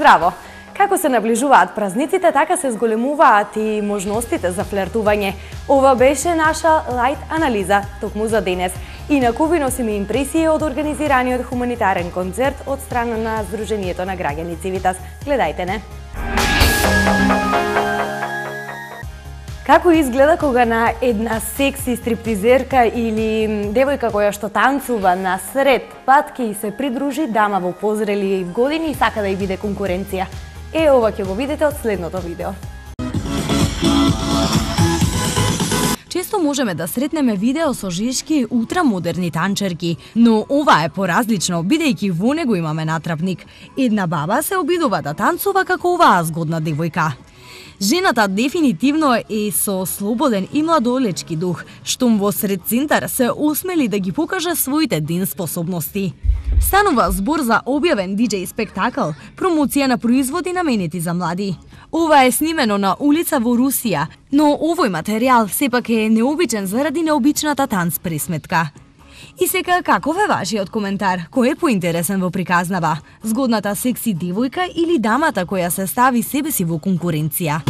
Здраво! Како се наближуваат празниците, така се зголемуваат и можностите за флертување. Ова беше наша лајт анализа токму за денес. Инаку ви носиме импресии од организираниот хуманитарен концерт од страна на Сдруженијето на граѓани Цивитас. Гледајте не! Како изгледа кога на една секси стриптизерка или девојка која што танцува на сред пат ќе се придружи дама во позрели години и сака да ја биде конкуренција? Ова ќе го видите од следното видео. Често можеме да сретнеме видео со жешки ултрамодерни танчерки, но ова е поразлично, бидејќи во него имаме натрапник. Една баба се обидува да танцува како оваа згодна девојка. Жената дефинитивно е со слободен и младолечки дух, штом во сред центар се осмели да ги покаже своите ден способности. Станува збор за објавен диџеј спектакл, промоција на производи наменети за млади. Ова е снимено на улица во Русија, но овој материјал сепак е необичен заради необичната танц пресметка. И сега каков е вашиот коментар? Кој е поинтересен во приказнава? Згодната секси девојка или дамата која се стави себе си во конкуренција?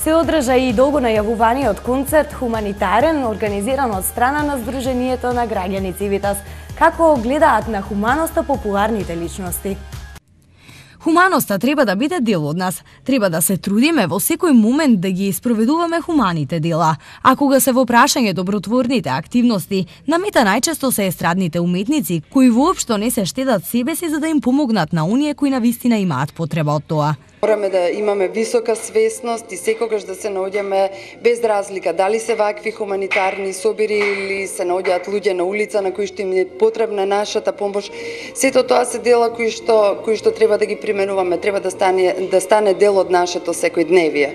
Се одржа и долго најавуваниот концерт хуманитарен, организиран од страна на Сдруженијето на граѓани Цивитас. Како гледаат на хуманоста популарните личности? Хуманоста треба да биде дел од нас. Треба да се трудиме во секој момент да ги спроведуваме хуманите дела. А кога се во прашање добротворните активности, на мета најчесто се естрадните уметници, кои воопшто не се штедат себе си за да им помогнат на оние кои навистина имаат потреба од тоа. Мораме да имаме висока свесност и секогаш да се наоѓаме без разлика дали се вакви хуманитарни собири или се наоѓаат луѓе на улица на кои што им е потребна нашата помош. Сето тоа се дела кои што треба да ги применуваме, треба да стане дел од нашето секојдневие.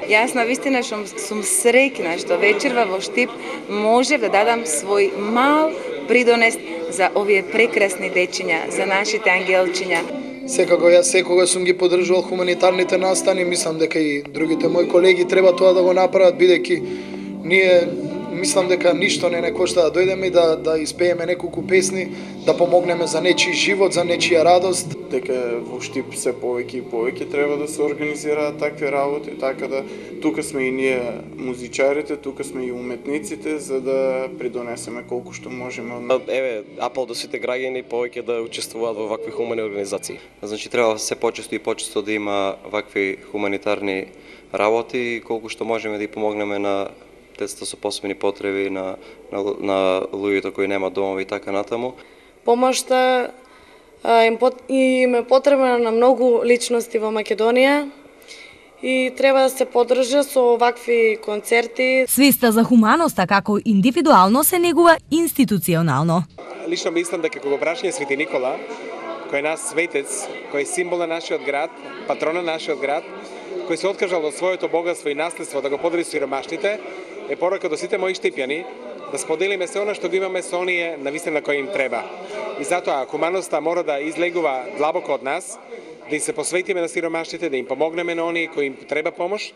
Јас навистина сум среќна што вечерва во Штип можев да дадам свој мал придонес за овие прекрасни дечиња, за нашите ангелчиња. Секако јас секогаш сум ги поддржувал хуманитарните настани, мислам дека и другите мои колеги треба тоа да го направат, бидејќи ние мислам дека ништо не кошта да дојдеме и да испееме неколку песни, да помогнеме за нечи живот, за нечија радост. Дека во Штип се повеќе и повеќе треба да се организираат такви работи, така да тука сме и ние музичарите, тука сме и уметниците за да придонесеме колку што можеме. Еве, апел до сите граѓани повеќе да учествуваат во вакви хумани организации. Значи треба се почесто и почесто да има вакви хуманитарни работи, колку што можеме да ги помогнеме на децата со посебни потреби, на луѓето кои немаат домови и така натаму. Помошта им е потребна на многу личности во Македонија и треба да се поддржа со вакви концерти. Свеста за хуманоста како индивидуално се негува институционално. Лично мислам дека кога прашање Свети Никола, кој е наш светец, кој е символ на нашиот град, патрон на нашиот град, кој се откажал од своето богатство и наследство да го подели сиромашните, е порака до сите мои штипјани да споделиме се она што го имаме со оние навистина кои им треба. И затоа хуманоста мора да излегува длабоко од нас, да им се посветиме на сиромашните, да им помогнеме на оние кои им треба помош,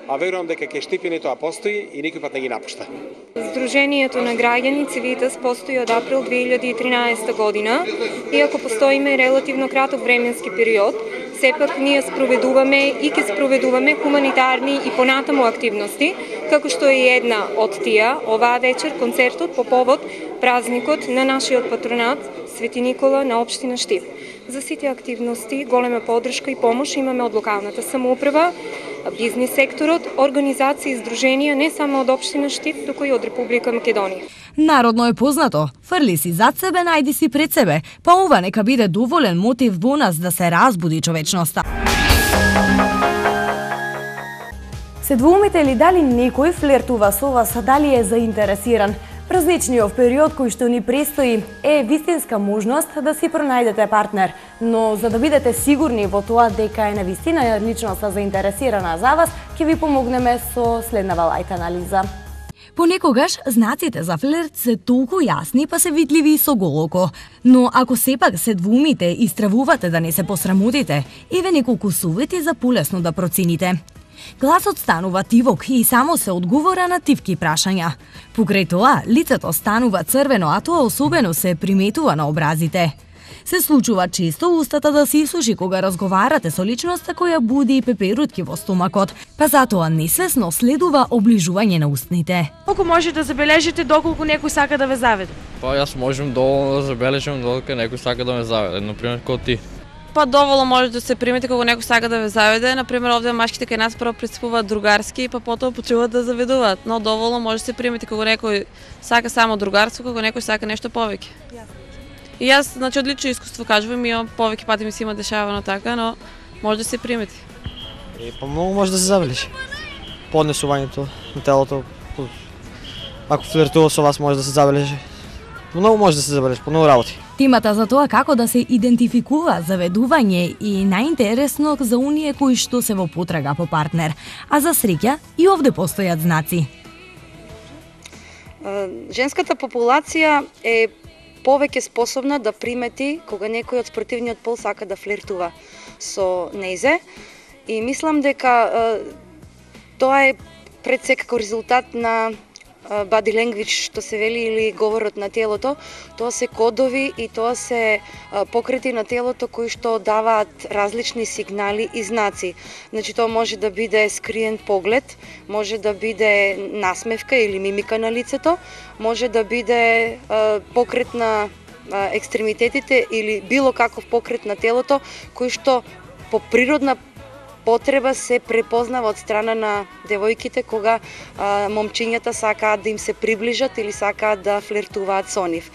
а верувам дека ке Штипјани тоа постои и никој пат не ги напушта. Сдруженијето на граѓани Цивитас постои од април 2013 година, иако постоиме релативно краток временски период, сепак ние спроведуваме и ќе спроведуваме хуманитарни и понатаму активности, како што е една од тие оваа вечер концертот по повод празникот на нашиот патронат Свети Никола на општина Штип. За сите активности голема поддршка и помош имаме од локалната самоуправа, бизнис секторот, организации и здруженија не само од општина Штип, туку и од Република Македонија. Народно е познато, фрли си зад себе, најди си пред себе, па ова нека биде доволен мотив во нас да се разбуди човечноста. Се двоумите ли дали некој флертува со вас, дали е заинтересиран? Празничниот период кој што ни престои е вистинска можност да си пронајдете партнер, но за да бидете сигурни во тоа дека е навистина личноста заинтересирана за вас, ќе ви помогнеме со следнава лајт анализа. Понекогаш знаците за флирт се толку јасни па се видливи со голоко, но ако сепак се двумите и стравувате да не се посрамутите, еве неколку совети за полесно да процените. Гласот станува тивок и само се одговора на тивки прашања. Покрај тоа, лицето станува црвено, а тоа особено се приметува на образите. Се случува често устата да се исуши кога разговарате со личноста која буди пеперутки во стомакот, па затоа несвесно следува оближување на устните. Колку можете да забележите доколку некој сака да ве заведе? Па јас можам доволно да забележам доколку некој сака да ме заведе, например како ти. Па доволно може да се примете кога некој сака да ве заведе, например овде машките кај нас прво пристапуваат другарски, па потоа почнуваат да заведуваат, но доволно може да се примете кога некој сака само другарство, кога некој сака нешто повеќе. И јас, значи, од лично искуство кажувам, имам повеќе пати ми се има дешавано така, но може да се примети. Па многу може да се забележи. Поднесувањето на телото, ако флиртува со вас може да се забележи. Многу може да се забележи, по многу работи. Темата за тоа како да се идентификува заведување и најинтересно за оние кои што се во потрага по партнер, а за среќа и овде постојат знаци. Женската популација е повеќе способна да примети кога некој од спротивниот пол сака да флиртува со нејзе и мислам дека тоа е пред секако резултат на body language, што се вели, или говорот на телото. Тоа се кодови и тоа се покрети на телото кои што даваат различни сигнали и знаци. Значи тоа може да биде скриен поглед, може да биде насмевка или мимика на лицето, може да биде покрет на екстремитетите или било каков покрет на телото кој што по природна потреба се препознава од страна на девојките кога момчињата сакаат да им се приближат или сакаат да флиртуваат со нив.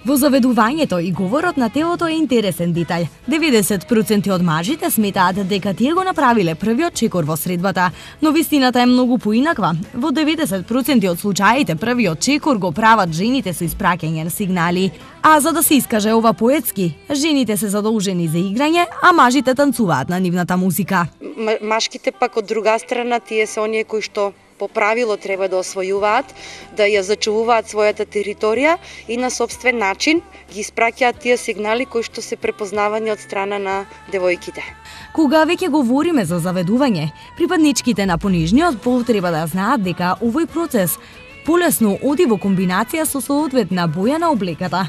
Во заведувањето и говорот на телото е интересен детаљ. 90% од мажите сметаат дека тие го направиле првиот чекор во средбата, но вистината е многу поинаква. Во 90% од случаите првиот чекор го прават жените со испраќање на сигнали. А за да се искаже ова поетски, жените се задолжени за играње, а мажите танцуваат на нивната музика. Машките пак од друга страна, тие се оние кои што по правило треба да освојуваат, да ја зачувуваат својата територија и на собствен начин ги испраќаат тие сигнали кои што се препознавани од страна на девојките. Кога веќе говориме за заведување, припадничките на понижниот пол треба да знаат дека овој процес полесно оди во комбинација со соодветна боја на облеката.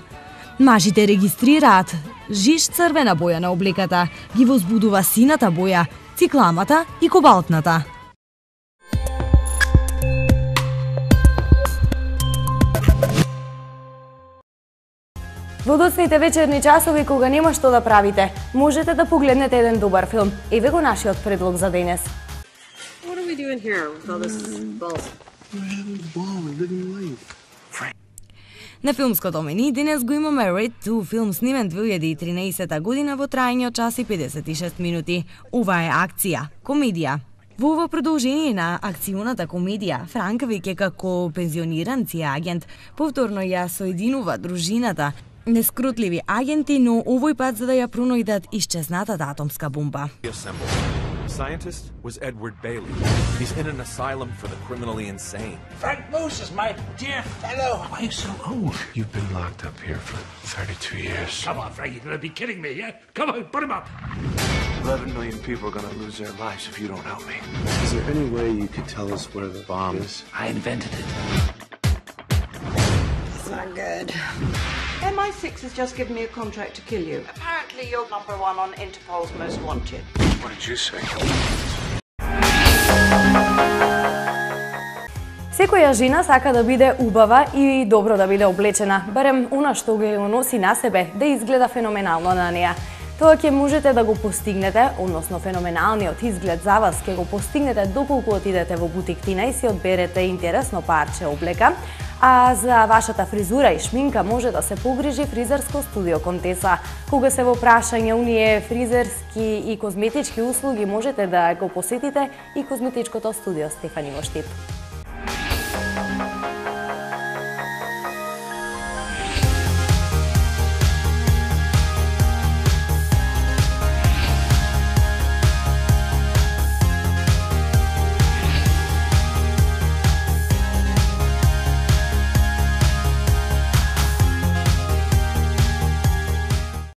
Мажите регистрираат жиш црвена боја на облеката, ги возбудува сината боја, цикламата и кобалтната. Во доцните вечерни часови кога нема што да правите, можете да погледнете еден добар филм. Еве го нашиот предлог за денес. На филмското мени денес го имаме Raid 2, филм снимен 2013 година во трајање од час и 56 минути. Ова е акција, комедија. Во ова продолжение на акционата комедија, Франк веќе како пензиониран агент повторно ја соединува дружината нескрутливи агенти, но овој пат за да ја пронајдат исчезнатата атомска бомба. Scientist was Edward Bailey. He's in an asylum for the criminally insane. Frank Moose is my dear fellow. Why are you so old? You've been locked up here for 32 years. Come on, Frank, you're gonna be kidding me, yeah? Come on, put him up. 11 million people are gonna lose their lives if you don't help me. Is there any way you could tell us where the bomb is? I invented it. It's not good. MI6 has just given me a contract to kill you. Apparently you're #1 on Interpol's most wanted. What did you say? Секоја жена сака да биде убава и добро да биде облечена, барем она што го носи на себе да изгледа феноменално на неа. Тоа ќе можете да го постигнете, односно феноменалниот изглед за вас ќе го постигнете доколку отидете во бутиктина и си одберете интересно парче облека, а за вашата фризура и шминка може да се погрижи фризерско студио Контеса. Кога се во прашање оние фризерски и козметички услуги, можете да го посетите и козметичкото студио Стефани во Штип.